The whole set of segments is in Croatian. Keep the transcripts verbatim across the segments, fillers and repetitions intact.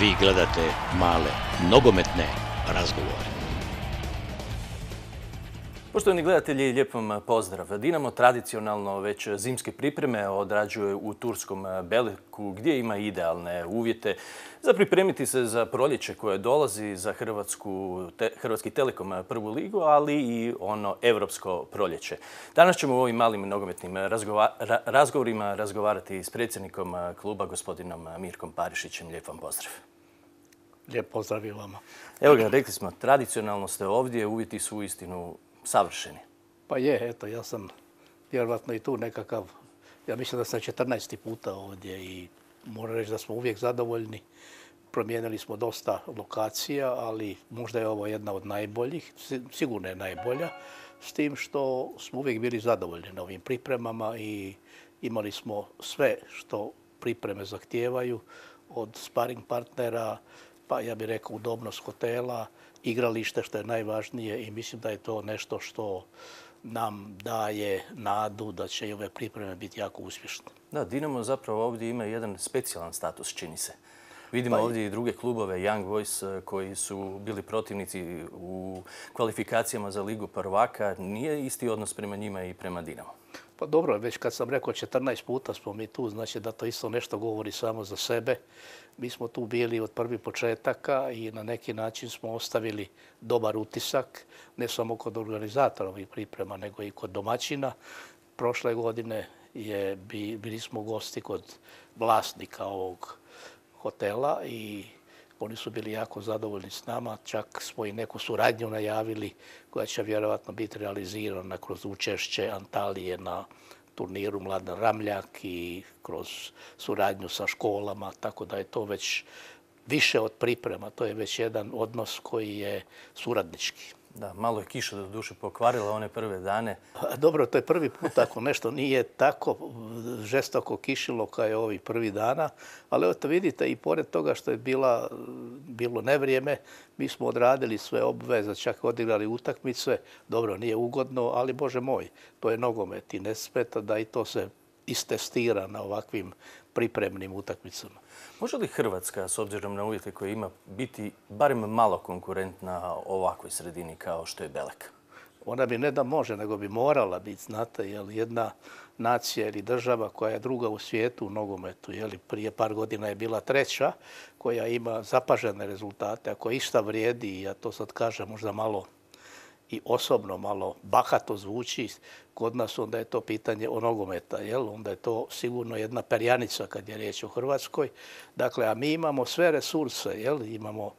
Vi gledate male nogometne razgovore. Poštovani gledatelji, lijep vam pozdrav. Dinamo tradicionalno već zimske pripreme odrađuje u turskom Beleku gdje ima idealne uvjete za pripremiti se za proljeće koje dolazi, za Hrvatsku, te, Hrvatski Telekom prvu ligu, ali i ono europsko proljeće. Danas ćemo u ovim malim nogometnim razgova, ra, razgovorima razgovarati s predsjednikom kluba, gospodinom Mirkom Parišićem. Lijep vam pozdrav. Lijep pozdrav i vama. Evo ga, rekli smo, tradicionalno ste ovdje, uvjeti su uistinu savršeni. Pa je, eto, ja sam vjerovatno i tu nekakav, ja mislim da sam četrnaesti puta ovdje i moram reći da smo uvijek zadovoljni. Promijenili smo dosta lokacija, ali možda je ovo jedna od najboljih, sigurno je najbolja, s tim što smo uvijek bili zadovoljni na ovim pripremama i imali smo sve što pripreme zahtijevaju, od sparing partnera, pa ja bih rekao udobnost hotela, igralište što je najvažnije i mislim da je to nešto što nam daje nadu da će i ove pripreme biti jako uspješne. Da, Dinamo zapravo ovdje ima jedan specijalan status, čini se. Vidimo pa ovdje i druge klubove, Young Boys, koji su bili protivnici u kvalifikacijama za Ligu prvaka. Nije isti odnos prema njima i prema Dinamo. Pa dobro, već kad sam rekao četrnaest puta smo mi tu, znači da to isto nešto govori samo za sebe. Mi smo tu bili od prvih početaka i na neki način smo ostavili dobar utisak, ne samo kod organizatora ovih priprema, nego i kod domaćina. Prošle godine je, bili smo gosti kod vlasnika ovog hotela i oni su bili jako zadovoljni s nama. Čak smo i neku suradnju najavili koja će vjerovatno biti realizirana kroz učešće Antalije na turniru Mladen Ramljak i kroz suradnju sa školama, tako da je to već više od priprema. To je već jedan odnos koji je suradnički. Da, malo je kiša do duše pokvarila one prve dane. Dobro, to je prvi put ako nešto nije tako žestoko kišilo kao je ovih prvi dana, ali evo vidite i pored toga što je bila, bilo nevrijeme, mi smo odradili sve obveze, čak odigrali utakmice. Dobro, nije ugodno, ali Bože moj, to je nogomet i ne smeta da i to se istestira na ovakvim pripremnim utakmicama. Može li Hrvatska, s obzirom na uvjete koje ima, biti barem malo konkurentna ovakvoj sredini kao što je Belek? Ona bi ne da može, nego bi morala biti, znate, jer jedna nacija ili država koja je druga u svijetu u nogometu, jeli, prije par godina je bila treća, koja ima zapažene rezultate, ako išta vrijedi, i ja to sad kažem možda malo i osobno malo bahato zvuči kod nas, onda je to pitanje o nogometa, jel? Onda je to sigurno jedna perjanica kad je riječ o Hrvatskoj. Dakle, a mi imamo sve resurse, jel? Imamo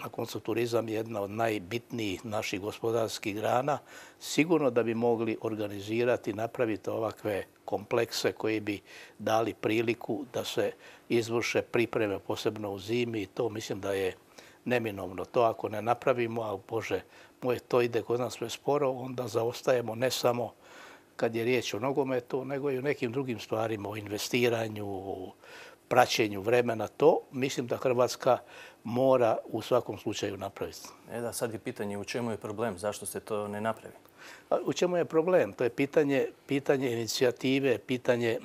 na koncu turizam jedna od najbitnijih naših gospodarskih grana. Sigurno da bi mogli organizirati, napraviti ovakve komplekse koji bi dali priliku da se izvrše pripreme, posebno u zimi, i to mislim da je neminovno. To ako ne napravimo, a Bože moj, to ide kod nas sve sporo, onda zaostajemo ne samo kad je riječ o nogometu, nego i o nekim drugim stvarima, o investiranju, o praćenju vremena. To mislim da Hrvatska mora u svakom slučaju napraviti. E da, sad je pitanje u čemu je problem, zašto se to ne napravi? U čemu je problem? To je pitanje, pitanje inicijative, pitanje,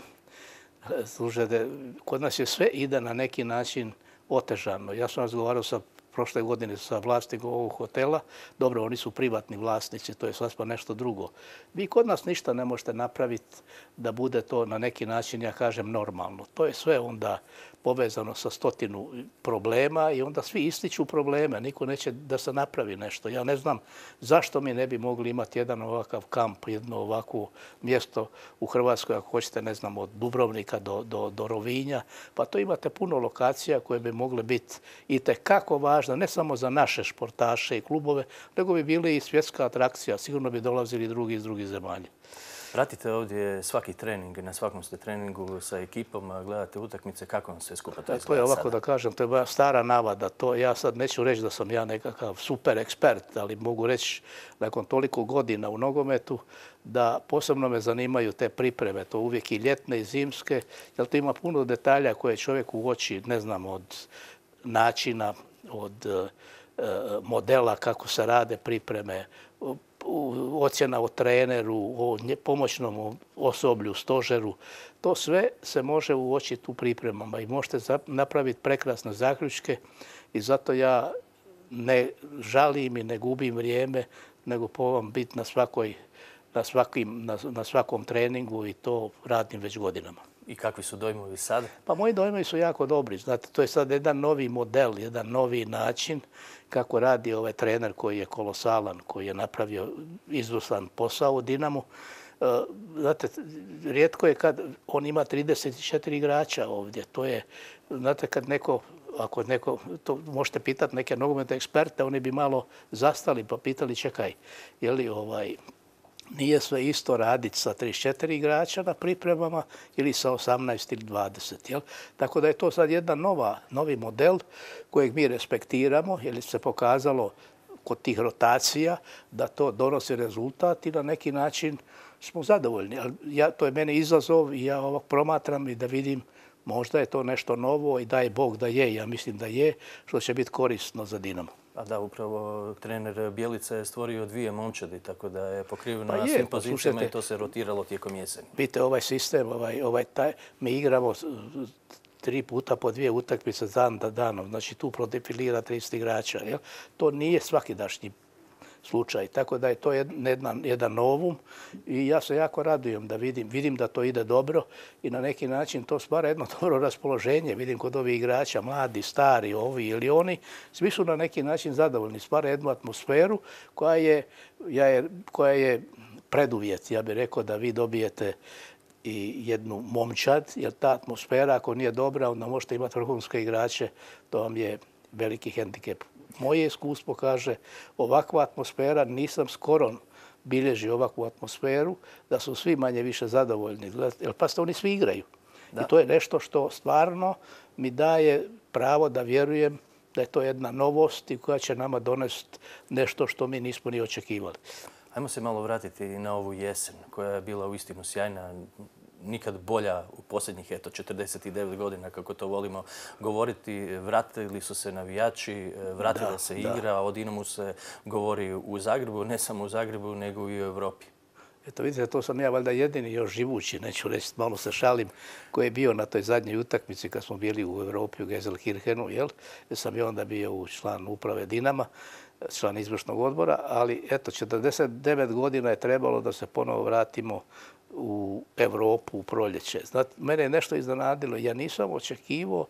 slušajte, kod nas je sve ide na neki način otežano. Ja sam razgovarao sa prošle godine sa vlasnikom ovog hotela. Dobro, oni su privatni vlasnici, to je sasvim nešto drugo. Vi kod nas ništa ne možete napraviti da bude to na neki način, ja kažem, normalno. To je sve onda povezano sa stotinu problema i onda svi ističu probleme. Niko neće da se napravi nešto. Ja ne znam zašto mi ne bi mogli imati jedan ovakav kamp, jedno ovakvo mjesto u Hrvatskoj, ako hoćete, ne znam, od Dubrovnika do, do, do Rovinja. Pa to imate puno lokacija koje bi mogle biti itekako važne, ne samo za naše športaše i klubove, nego bi bili i svjetska atrakcija. Sigurno bi dolazili drugi iz drugih zemalja. Pratite ovdje svaki trening, na svakom ste treningu sa ekipom, gledate utakmice, kako vam sve skupa to izgleda sada? To je ovako da kažem, to je moja stara navada. To ja sad neću reći da sam ja nekakav super ekspert, ali mogu reći nakon toliko godina u nogometu da posebno me zanimaju te pripreme, to uvijek i ljetne i zimske, jer to ima puno detalja koje čovjek uoči, ne znam, od načina, od modela kako se rade pripreme, ocjena o treneru, o pomoćnom osoblju, stožeru. To sve se može uočiti u pripremama i možete napraviti prekrasne zaključke i zato ja ne žalim i ne gubim vrijeme, nego probam biti na, svakoj, na, svakim, na, na svakom treningu i to radim već godinama. I kakvi su dojmovi sad? Pa moji dojmovi su jako dobri. Znate, to je sad jedan novi model, jedan novi način kako radi ovaj trener koji je kolosalan, koji je napravio izvrstan posao u Dinamu. Znate, rijetko je kad on ima trideset četiri igrača ovdje. To je, znate, kad neko, ako neko, to možete pitati neke nogometne eksperte, oni bi malo zastali pa pitali čekaj, je li ovaj, nije sve isto raditi sa trideset četiri igrača na pripremama ili sa osamnaest ili dvadeset. Jel? Tako da je to sad jedan nova, novi model kojeg mi respektiramo jer se pokazalo kod tih rotacija da to donosi rezultat i na neki način smo zadovoljni. Ali ja, to je meni izazov i ja ovog promatram i da vidim možda je to nešto novo i daj Bog da je. Ja mislim da je, što će biti korisno za Dinamo. A da, upravo trener Bjelica je stvorio dvije momčadi, tako da je pokriveno pa na je, svim pa pozicijama slušajte, i to se rotiralo tijekom jeseni. Vidite, ovaj sistem, ovaj, ovaj, taj, mi igramo tri puta po dvije utakmice dan da danom. Znači tu prodefilira trideset igrača. Jel? To nije svakidašnji slučaj. Tako da je to jedan, jedan novum i ja se jako radujem da vidim, vidim da to ide dobro i na neki način to stvara jedno dobro raspoloženje. Vidim kod ovih igrača, mladi, stari, ovi ili oni, svi su na neki način zadovoljni. Stvara jednu atmosferu koja je, ja je, koja je preduvjet, ja bih rekao, da vi dobijete i jednu momčad, jer ta atmosfera ako nije dobra, onda možete imati vrhunske igrače, to vam je veliki hendikep. Moje iskustvo kaže, ovakva atmosfera, nisam skoro bilježio ovakvu atmosferu, da su svi manje više zadovoljni. Jer pa oni svi igraju. Da. I to je nešto što stvarno mi daje pravo da vjerujem da je to jedna novost i koja će nama donesti nešto što mi nismo ni očekivali. Ajmo se malo vratiti na ovu jesen koja je bila uistinu sjajna. Nikad bolja u posljednjih eto, četrdeset devet godina, kako to volimo govoriti. Vratili su se navijači, vratila da, se igra, da. O Dinamu se govori u Zagrebu, ne samo u Zagrebu, nego i u Europi. Eto vidite, to sam ja valjda jedini još živući, neću reći, malo se šalim, koji je bio na toj zadnjoj utakmici kad smo bili u Europi, u Gelsenkirchenu, jel? Jer sam i onda bio u član uprave Dinama, član izvršnog odbora, ali eto, četrdeset devet godina je trebalo da se ponovo vratimo u Europu u proljeće. Znate, mene je nešto iznenadilo. Ja nisam očekivao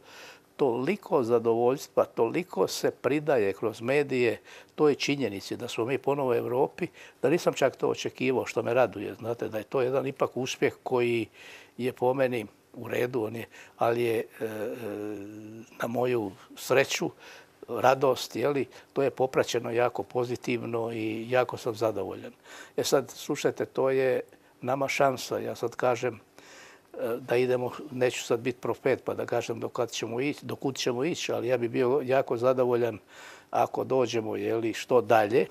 toliko zadovoljstva, toliko se pridaje kroz medije toj činjenici da smo mi ponovo u Europi, da nisam čak to očekivao, što me raduje. Znate, da je to jedan ipak uspjeh koji je po meni u redu, on je, ali je e, na moju sreću, radost, jeli, to je popraćeno jako pozitivno i jako sam zadovoljan. E sad, slušajte, to je nama šansa. Ja sad kažem da idemo, neću sad biti profet pa da kažem do kad ćemo ići, do kud ćemo ići, ali ja bih bio jako zadovoljan ako dođemo, jeli, što dalje.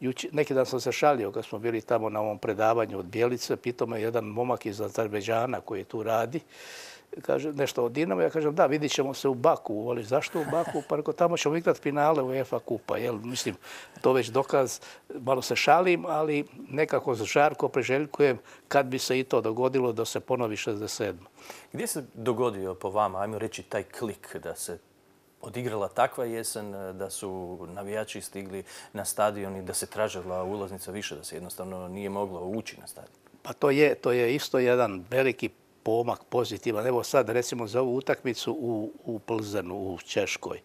Juči, neki dan sam se šalio kad smo bili tamo na ovom predavanju od Bjelice, pitao me jedan momak iz Azerbejdžana koji tu radi, kaže nešto o Dinamu, ja kažem da, vidit ćemo se u Baku, ali zašto u Baku? Pa reko, tamo ćemo igrati finale u UEFA kupa, jel? Mislim, to već dokaz, malo se šalim, ali nekako žarko priželjkujem kad bi se i to dogodilo da se ponovi šezdeset sedma. Gdje se dogodio po vama, ajmo reći, taj klik da se odigrala takva jesen, da su navijači stigli na stadion i da se tražila ulaznica više, da se jednostavno nije moglo ući na stadion? Pa to je, to je isto jedan veliki pomak pozitivan. Evo sad recimo za ovu utakmicu u, u Plzenu, u Češkoj.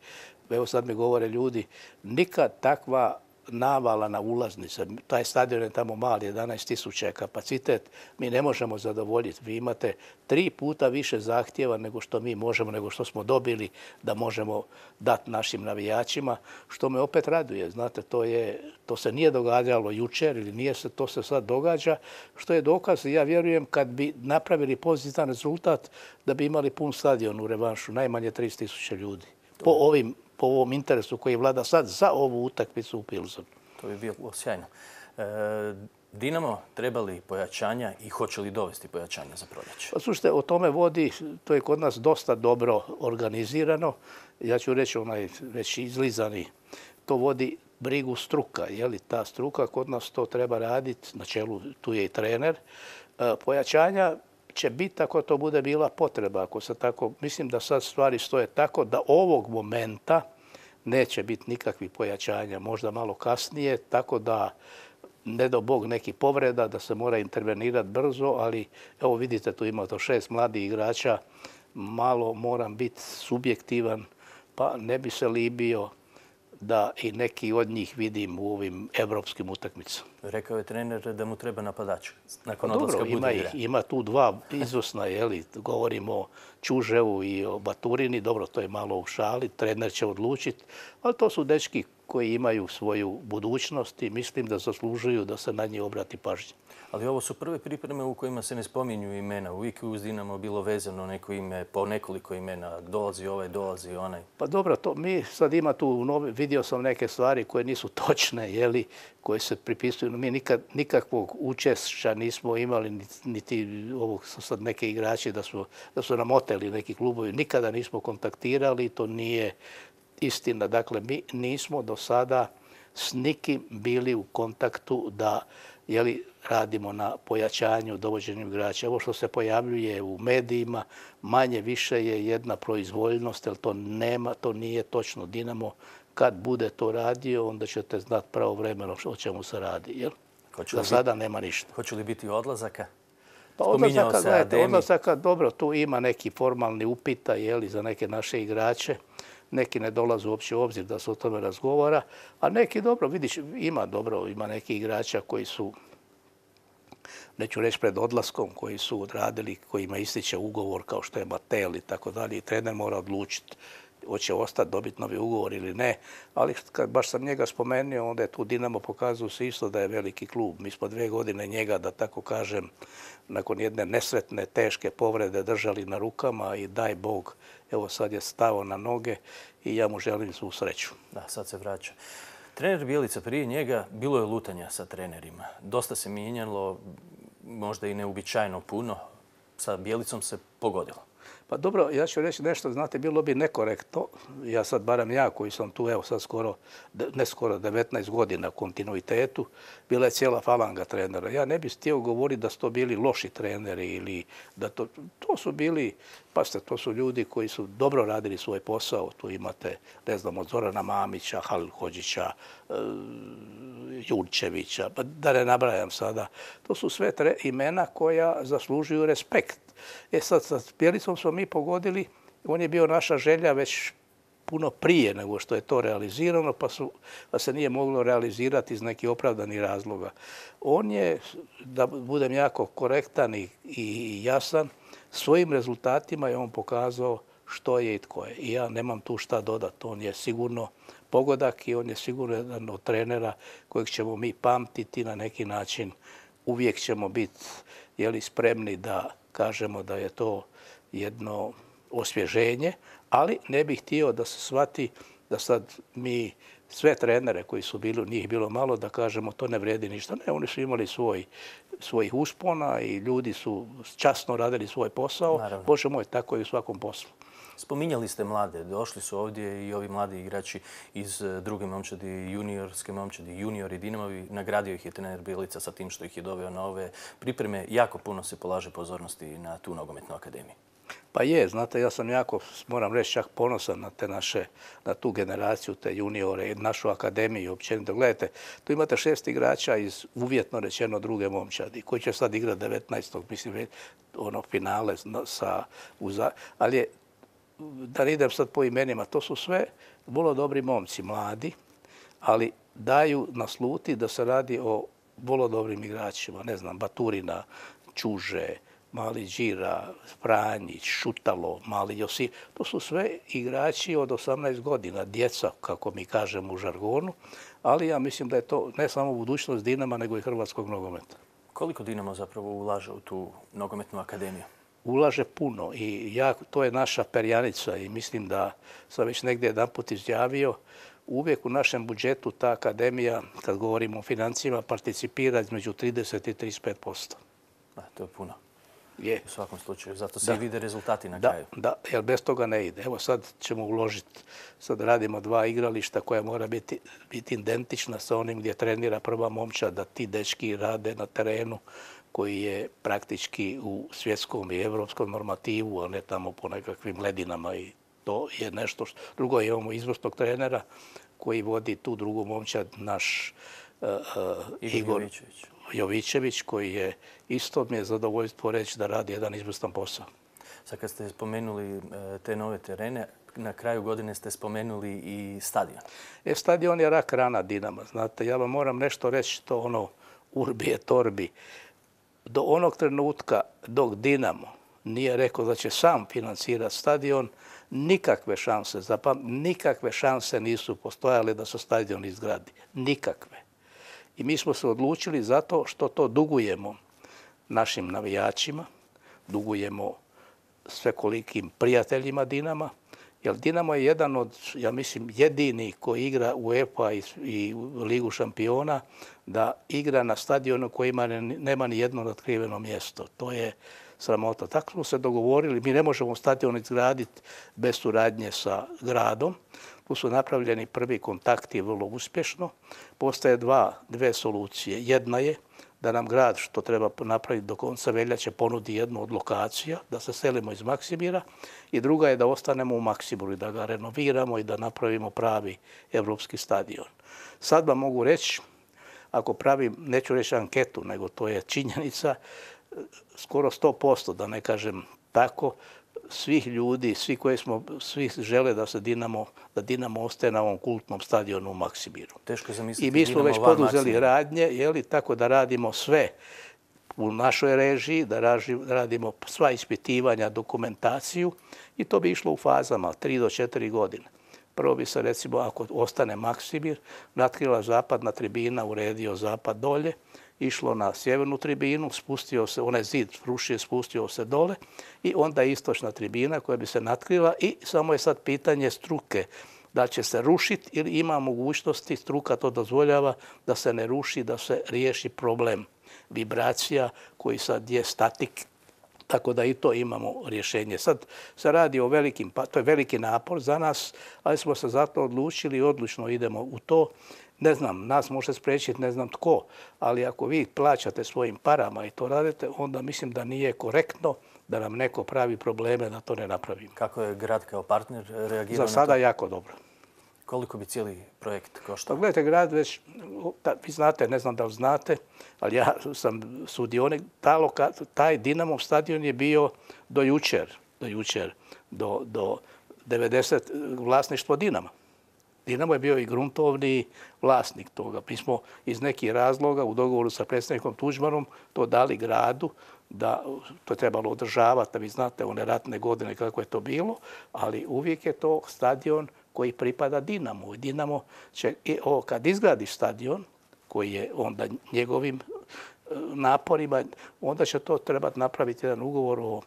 Evo sad mi govore ljudi, nikad takva navala na ulaznice. Taj stadion je tamo mali, jedanaest tisuća je kapacitet. Mi ne možemo zadovoljiti. Vi imate tri puta više zahtjeva nego što mi možemo, nego što smo dobili da možemo dati našim navijačima, što me opet raduje. Znate, to, je, to se nije događalo jučer ili nije se, to se sad događa, što je dokaz. Ja vjerujem kad bi napravili pozitivan rezultat da bi imali pun stadion u revanšu, najmanje trideset tisuća ljudi. Po ovim po ovom interesu koji vlada sad za ovu utakmicu u Pilzenu. To bi bilo sjajno. E, Dinamo treba li pojačanja i hoće li dovesti pojačanja za proljeće? Pa slušajte, o tome vodi, to je kod nas dosta dobro organizirano. Ja ću reći onaj već izlizani, to vodi brigu struka. Je li ta struka kod nas to treba raditi, na čelu tu je i trener. Pojačanja će biti ako to bude bila potreba. Ako se tako, mislim da sad stvari stoje tako da ovog momenta neće biti nikakvih pojačanja, možda malo kasnije, tako da ne do Bog neki povreda, da se mora intervenirati brzo, ali evo vidite, tu ima to šest mladih igrača, malo moram biti subjektivan, pa ne bi se libio da i neki od njih vidim u ovim evropskim utakmicama. Rekao je trener da mu treba napadač. Nakon pa odlaska dobro, ima, Budimira. ima tu dva izvrsna, jeli, govorimo o Čuževu i o Baturini, dobro, to je malo u šali, trener će odlučiti, ali to su dečki koji imaju svoju budućnost i mislim da zaslužuju da se na njih obrati pažnja. Ali ovo su prve pripreme u kojima se ne spominju imena. Uvijek je uz Dinamo bilo vezano neko ime, po nekoliko imena. Dolazi ovaj, dolazi onaj. Pa dobro, to mi sad ima tu, novi, vidio sam neke stvari koje nisu točne, jeli, koje se pripisuju. Mi nikad, nikakvog učešća nismo imali, niti ovog su sad neke igrači da su, da su nam oteli neki klubovi. Nikada nismo kontaktirali, to nije istina. Dakle, mi nismo do sada s nikim bili u kontaktu da jeli, radimo na pojačanju, dovođenju igrača. Ovo što se pojavljuje u medijima, manje više je jedna proizvoljnost, jer to nema, to nije točno. Dinamo, kad bude to radio, onda ćete znati pravovremeno o čemu se radi. Jel? Za sada nema ništa. Hoće li biti odlazaka? Pa odlazaka, gledajte, odlazaka, dobro, tu ima neki formalni upita, jeli, za neke naše igrače. Neki ne dolaze uopće u obzir da se o tome razgovara, a neki dobro, vidiš, ima dobro, ima neki igrača koji su, neću reći pred odlaskom, koji su odradili, kojima ističe ugovor kao što je Matel i tako dalje i trener mora odlučiti hoće ostati, dobiti novi ugovor ili ne, ali kad baš sam njega spomenuo, onda je tu Dinamo pokazao se isto da je veliki klub. Mi smo dvije godine njega, da tako kažem, nakon jedne nesretne, teške povrede držali na rukama i daj Bog, evo sad je stao na noge i ja mu želim svu sreću. Da, sad se vraća. Trener Bjelica, prije njega bilo je lutanja sa trenerima. Dosta se mijenjalo, možda i neuobičajeno puno. Sa Bjelicom se pogodilo. Pa dobro, ja ću reći nešto, znate, bilo bi nekorektno, ja sad, barem ja koji sam tu, evo sad skoro, ne skoro devetnaest godina kontinuitetu, bila je cijela falanga trenera. Ja ne bih htio govoriti da su to bili loši treneri ili da to, to su bili, pazite, to su ljudi koji su dobro radili svoj posao. Tu imate, ne znam, od Zorana Mamića, Halil Hodžića, e, Jurčevića, pa da ne nabrajam sada. To su sve tre, imena koja zaslužuju respekt. E sad, sa Bjelicom smo mi pogodili, on je bio naša želja već puno prije nego što je to realizirano, pa, su, pa se nije moglo realizirati iz nekih opravdanih razloga. On je, da budem jako korektan i, i jasan, svojim rezultatima je on pokazao što je i tko je. I ja nemam tu šta dodati. On je sigurno pogodak i on je sigurno jedan od trenera kojeg ćemo mi pamtiti na neki način. Uvijek ćemo biti jeli, spremni da kažemo da je to jedno osvježenje, ali ne bih htio da se shvati da sad mi sve trenere koji su bili, njih bilo malo, da kažemo to ne vrijedi ništa. Ne, oni su imali svoj, svojih uspona i ljudi su časno radili svoj posao. Naravno. Bože moj, tako je u svakom poslu. Spominjali ste mlade, došli su ovdje i ovi mladi igrači iz druge momčadi, juniorske momčadi, juniori Dinamovi. Nagradio ih je trener Bjelica sa tim što ih je doveo na ove pripreme. Jako puno se polaže pozornosti na tu nogometnu akademiju. Pa je, znate, ja sam jako, moram reći, čak ponosan na te naše, na tu generaciju, te juniore, našu akademiju općenito. Gledajte, tu imate šest igrača iz uvjetno rečeno druge momčadi, koji će sad igrati devetnaestog mislim, ono finale sa, uza, ali je, da ne idem sad po imenima, to su sve vrlo dobri momci, mladi, ali daju nasluti da se radi o vrlo dobrim igračima. Ne znam, Baturina, Čuže, Mali Đira, Franjić, Šutalo, Mali Josip. To su sve igrači od osamnaest godina, djeca, kako mi kažemo u žargonu, ali ja mislim da je to ne samo budućnost Dinama, nego i hrvatskog nogometa. Koliko Dinamo zapravo ulaže u tu nogometnu akademiju? Ulaže puno i ja, to je naša perjanica i mislim da sam već negdje jedanput izjavio, uvijek u našem budžetu ta akademija, kad govorimo o financijama, participira između trideset i trideset pet posto. Da, to je puno. Je. U svakom slučaju, zato se i vide rezultati na Da, kraju. da, jer bez toga ne ide. Evo sad ćemo uložiti, sad radimo dva igrališta koja mora biti, biti identična sa onim gdje trenira prva momčad, da ti dečki rade na terenu koji je praktički u svjetskom i evropskom normativu, a ne tamo po nekakvim ledinama i to je nešto što... Drugo, imamo izvrsnog trenera koji vodi tu drugu momčad, naš uh, uh, Igor Jovičević. Jovičević, koji je isto mi je zadovoljstvo reći da radi jedan izvrstan posao. Sad kad ste spomenuli te nove terene, na kraju godine ste spomenuli i stadion. E, stadion je rak rana Dinama. Znate, ja vam moram nešto reći, to ono urbi et orbi. Do onog trenutka dok Dinamo nije rekao da će sam financirati stadion, nikakve šanse, zapam, nikakve šanse nisu postojale da se stadion izgradi. Nikakve. I mi smo se odlučili zato što to dugujemo našim navijačima, dugujemo svekolikim prijateljima Dinama, jer Dinamo je jedan od, ja mislim, jedini koji igra u UEFA i Ligu šampiona, da igra na stadionu koji ima, nema ni jedno natkriveno mjesto. To je sramota. Tako smo se dogovorili. Mi ne možemo stadion izgraditi bez suradnje sa gradom. Tu su napravljeni prvi kontakti vrlo uspješno. Postoje dva, dve solucije. Jedna je da nam grad, što treba napraviti do konca veljače, ponudi jednu od lokacija, da se selimo iz Maksimira, i druga je da ostanemo u Maksimiru i da ga renoviramo i da napravimo pravi evropski stadion. Sad vam mogu reći, ako pravim, neću reći anketu, nego to je činjenica, skoro sto posto, da ne kažem tako, svih ljudi, svi koji smo, svi žele da se Dinamo, da Dinamo ostaje na ovom kultnom stadionu u Maksimiru. Teško zamisliti. I mi smo već poduzeli radnje, jeli, tako da radimo sve u našoj režiji, da radimo sva ispitivanja, dokumentaciju, i to bi išlo u fazama tri do četiri godine. Prvo bi se, recimo, ako ostane Maksimir, natkrila zapadna tribina, uredio zapad dolje, išlo na sjevernu tribinu, spustio se, onaj zid rušio, spustio se dole, i onda istočna tribina koja bi se natkrila, i samo je sad pitanje struke da će se rušiti ili ima mogućnosti, struka to dozvoljava, da se ne ruši, da se riješi problem vibracija koji sad je statik. Tako da i to imamo rješenje. Sad se radi o velikim, pa to je veliki napor za nas, ali smo se zato odlučili i odlučno idemo u to. Ne znam, nas može spriječiti ne znam tko, ali ako vi plaćate svojim parama i to radite, onda mislim da nije korektno da nam neko pravi probleme da to ne napravimo. Kako je grad kao partner reagirao na to? Za sada jako dobro. Koliko bi cijeli projekt koštao? Pa gledajte, grad već, vi znate, ne znam da li znate, ali ja sam sudionik, taj Dinamov stadion je bio do jučer, do jučer, do, do devedeset vlasništvo Dinama. Dinamo je bio i gruntovni vlasnik toga. Mi smo iz nekih razloga u dogovoru sa predsjednikom Tuđmanom to dali gradu, da to je trebalo održavati, da vi znate one ratne godine kako je to bilo, ali uvijek je to stadion koji pripada Dinamu. Dinamo će, o, kad izgradi stadion, koji je onda njegovim naporima, onda će to trebati napraviti jedan ugovor o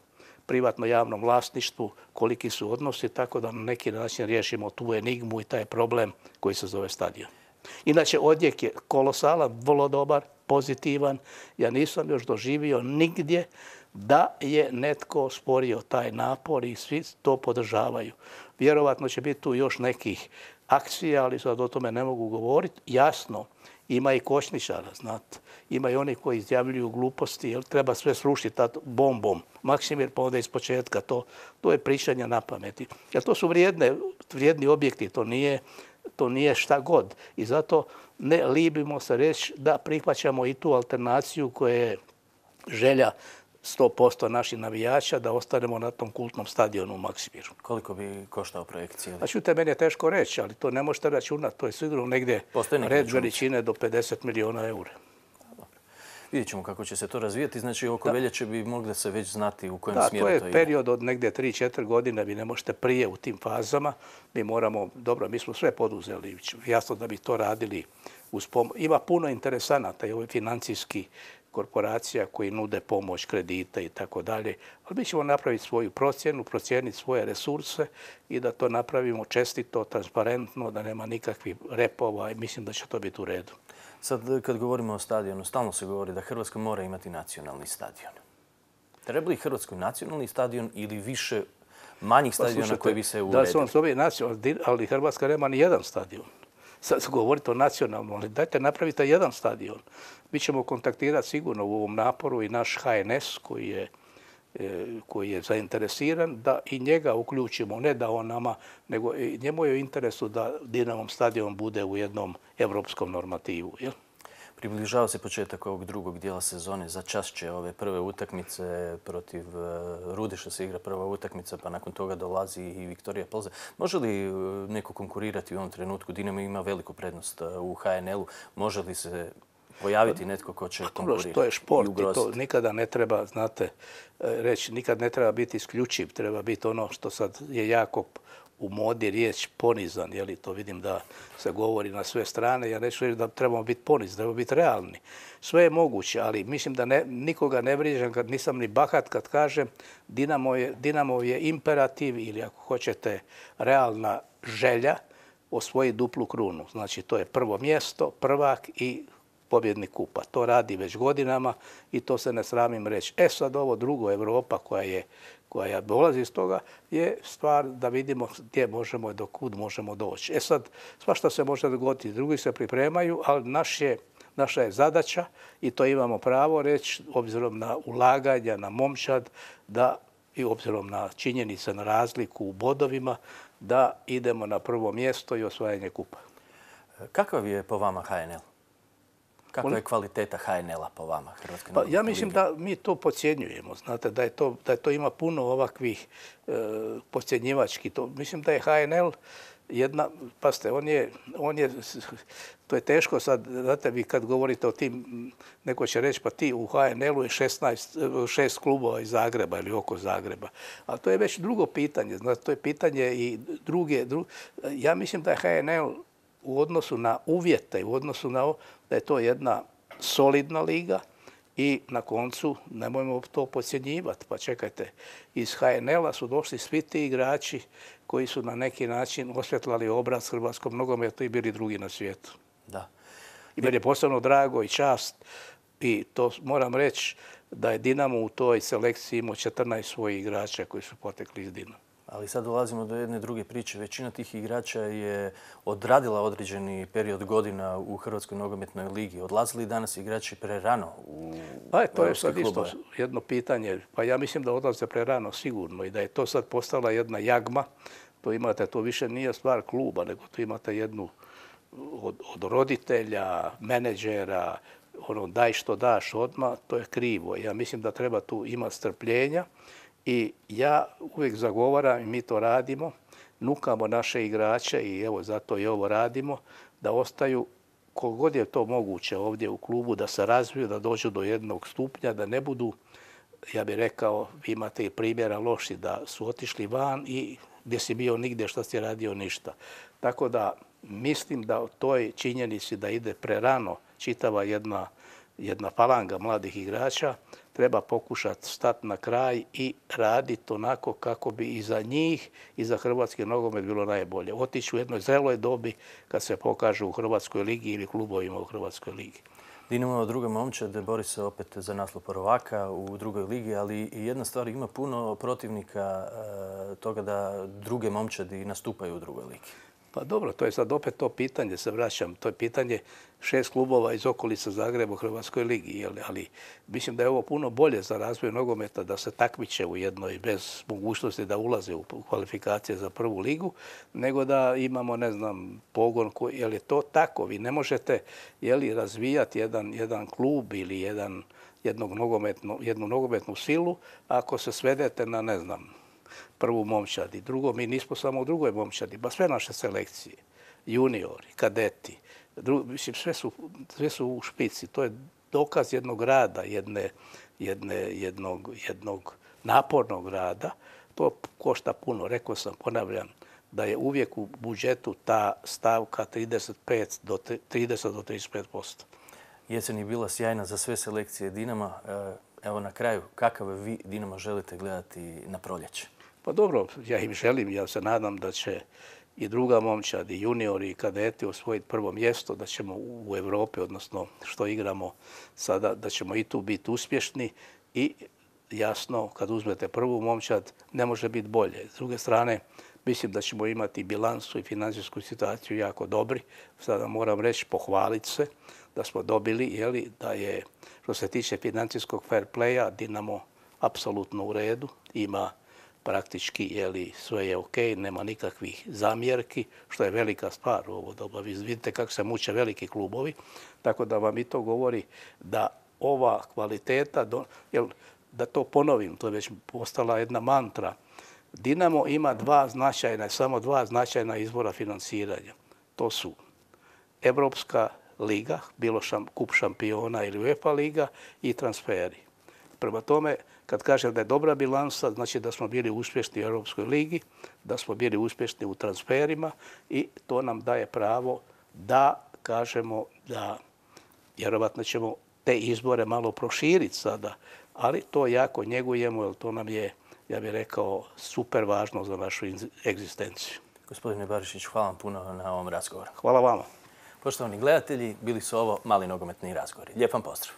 privatno-javnom vlasništvu, koliki su odnosi, tako da na neki način riješimo tu enigmu i taj problem koji se zove stadion. Inače, odjek je kolosalan, vrlo dobar, pozitivan. Ja nisam još doživio nigdje da je netko sporio taj napor i svi to podržavaju. Vjerovatno će biti tu još nekih akcija, ali sad o tome ne mogu govoriti. Jasno, ima i kočničara, znate. Ima i oni koji izjavljuju gluposti, jer treba sve srušiti bombom. Maksimir pa onda iz početka. To, to je pričanje na pameti. Jer to su vrijedne, vrijedni objekti, to nije, to nije šta god. I zato ne libimo se reći da prihvaćamo i tu alternaciju koja je želja sto posto naših navijača da ostanemo na tom kultnom stadionu u Maksimiru. Koliko bi koštao projekt cijeli? A čujte, meni je teško reći, ali to ne možete računati. To je sigurno negdje red veličine do pedeset milijuna eura. Vidjet ćemo kako će se to razvijati. Znači, oko veljače bi mogli se već znati u kojem smjeru to ide. Da, to je period od negdje tri četiri godine. Vi ne možete prije u tim fazama. Mi moramo, dobro, mi smo sve poduzeli. Jasno da bi to radili uz pomoć. Ima puno interesanata i ovaj financijski korporacija koji nude pomoć, kredite i tako dalje. Ali mi ćemo napraviti svoju procjenu, procijeniti svoje resurse i da to napravimo čestito, transparentno, da nema nikakvih repova i mislim da će to biti u redu. Sad, kad govorimo o stadionu, stalno se govori da Hrvatska mora imati nacionalni stadion. Treba li Hrvatskoj nacionalni stadion ili više manjih stadiona koji bi se uredili? Da se on zove nacionalni, ali Hrvatska nema ni jedan stadion. Sad govorite o nacionalnom, ali dajte napravite jedan stadion. Mi ćemo kontaktirati sigurno u ovom naporu i naš H N S koji je koji je zainteresiran da i njega uključimo, ne da on nama, nego i njemu je u interesu da Dinamov stadion bude u jednom evropskom normativu. Jel? Približava se početak ovog drugog dijela sezone. Za čas će ove prve utakmice protiv Rudeša se igra prva utakmica, pa nakon toga dolazi i Viktorija Plze. Može li neko konkurirati u ovom trenutku? Dinamo ima veliku prednost u H N L-u. Može li se pojaviti netko ko će konkurirati? To je šport i to nikada ne treba, znate, reći, nikad ne treba biti isključiv. Treba biti ono što sad je jako u modi riječ ponizan, jeli, to vidim da se govori na sve strane. Ja neću reći da trebamo biti ponizni, trebamo biti realni. Sve je moguće, ali mislim da ne, nikoga ne vrijeđam kad nisam ni bahat kad kažem Dinamo je, Dinamo je imperativ ili ako hoćete realna želja osvojiti duplu krunu. Znači to je prvo mjesto, prvak i pobjednik kupa. To radi već godinama i to se ne sramim reći. E sad ovo drugo, Europa koja je koja dolazi iz toga, je stvar da vidimo gdje možemo i do kud možemo doći. E sad, svašta se može dogoditi, drugi se pripremaju, ali naš je, naša je zadaća i to imamo pravo reći, obzirom na ulaganja, na momčad, da i obzirom na činjenice, na razliku u bodovima, da idemo na prvo mjesto i osvajanje kupa. Kakav je po vama H N L? Kakva je kvaliteta H N L-a po vama? Pa ja mislim da mi to podcjenjujemo. Znate, da je to, da je to ima puno ovakvih e, podcjenjivački. To, mislim da je H N L jedna, pazite, on je, on je, to je teško sad, znate, vi kad govorite o tim, neko će reći pa ti u H N L-u je šesnaest, šest klubova iz Zagreba ili oko Zagreba. A to je već drugo pitanje. Znate, to je pitanje i druge, druge. Ja mislim da je H N L u odnosu na uvjete, u odnosu na ovo, da je to jedna solidna liga i na koncu nemojmo to podcjenjivati. Pa čekajte, iz H N L-a su došli svi ti igrači koji su na neki način osvjetlali obraz hrvatskom nogometu i bili drugi na svijetu. Da. I meni je posebno drago i čast i to moram reći da je Dinamo u toj selekciji imao četrnaest svojih igrača koji su potekli iz Dinama. Ali sad dolazimo do jedne druge priče. Većina tih igrača je odradila određeni period godina u Hrvatskoj nogometnoj ligi. Odlazili danas igrači prerano u Pa to je sad isto jedno pitanje. Pa ja mislim da odlaze prerano sigurno i da je to sad postala jedna jagma. To imate, to više nije stvar kluba, nego to imate jednu od, od roditelja, menadžera, ono daj što daš odmah, to je krivo. Ja mislim da treba tu imati strpljenja. I ja uvijek zagovaram i mi to radimo, nukamo naše igrače i evo zato i ovo radimo, da ostaju koliko god je to moguće ovdje u klubu, da se razviju, da dođu do jednog stupnja, da ne budu, ja bih rekao, vi imate i primjera loši, da su otišli van i gdje si bio nigdje, što si radio ništa. Tako da mislim da o toj činjenici da ide prerano čitava jedna, jedna falanga mladih igrača, treba pokušati stati na kraj i raditi onako kako bi i za njih i za hrvatski nogomet bilo najbolje. Otići u jednoj zreloj dobi kad se pokažu u Hrvatskoj ligi ili klubovima u Hrvatskoj ligi. Dinamo druga momčad bori se opet za naslov prvaka u drugoj ligi, ali i jedna stvar, ima puno protivnika toga da druge momčadi nastupaju u drugoj ligi. Pa dobro, to je sad opet to pitanje, se vraćam. To je pitanje šest klubova iz okolica Zagreba u Hrvatskoj ligi. Ali mislim da je ovo puno bolje za razvoj nogometa da se takmiče u jednoj bez mogućnosti da ulaze u kvalifikacije za prvu ligu, nego da imamo, ne znam, pogon. Koji, je li to tako? Vi ne možete je li, razvijati jedan, jedan klub ili jedan, jednog nogometnu, jednu nogometnu silu ako se svedete na, ne znam, prvu momčadi. Drugo, mi nismo samo u drugoj momčadi, pa sve naše selekcije, juniori, kadeti, dru, mislim, sve su, sve su u špici. To je dokaz jednog rada, jedne, jedne, jednog, jednog napornog rada. To košta puno. Rekao sam, ponavljam, da je uvijek u budžetu ta stavka trideset pet do trideset do trideset pet posto. Jesen je bila sjajna za sve selekcije Dinama. Evo na kraju, kakav vi Dinamo želite gledati na proljeće? Pa dobro, ja im želim, ja se nadam da će i druga momčad, i juniori, i kadeti osvojiti prvo mjesto, da ćemo u Europi, odnosno što igramo sada, da ćemo i tu biti uspješni i jasno, kad uzmete prvu momčad, ne može biti bolje. S druge strane, mislim da ćemo imati bilansu i financijsku situaciju jako dobri. Sada moram reći, pohvaliti se da smo dobili, jeli, da je, što se tiče financijskog fair playa, Dinamo apsolutno u redu, ima praktički, jeli, sve je ok, nema nikakvih zamjerki, što je velika stvar u ovo doba. Vi vidite kako se muče veliki klubovi, tako da vam i to govori da ova kvaliteta, jel, da to ponovim, to je već postala jedna mantra. Dinamo ima dva značajna, samo dva značajna izvora financiranja. To su Evropska liga, bilo šam, kup šampiona ili UEFA liga i transferi. Prema tome, kad kažem da je dobra bilansa, znači da smo bili uspješni u Europskoj ligi, da smo bili uspješni u transferima i to nam daje pravo da kažemo da vjerovatno ćemo te izbore malo proširiti sada, ali to jako njegujemo jer to nam je, ja bih rekao, super važno za našu egzistenciju. Gospodine Barišić, hvala vam puno na ovom razgovoru. Hvala vama. Poštovani gledatelji, bili su ovo mali nogometni razgovori. Lijep vam pozdrav.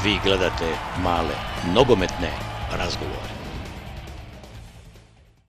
Vi gledate male nogometne razgovore.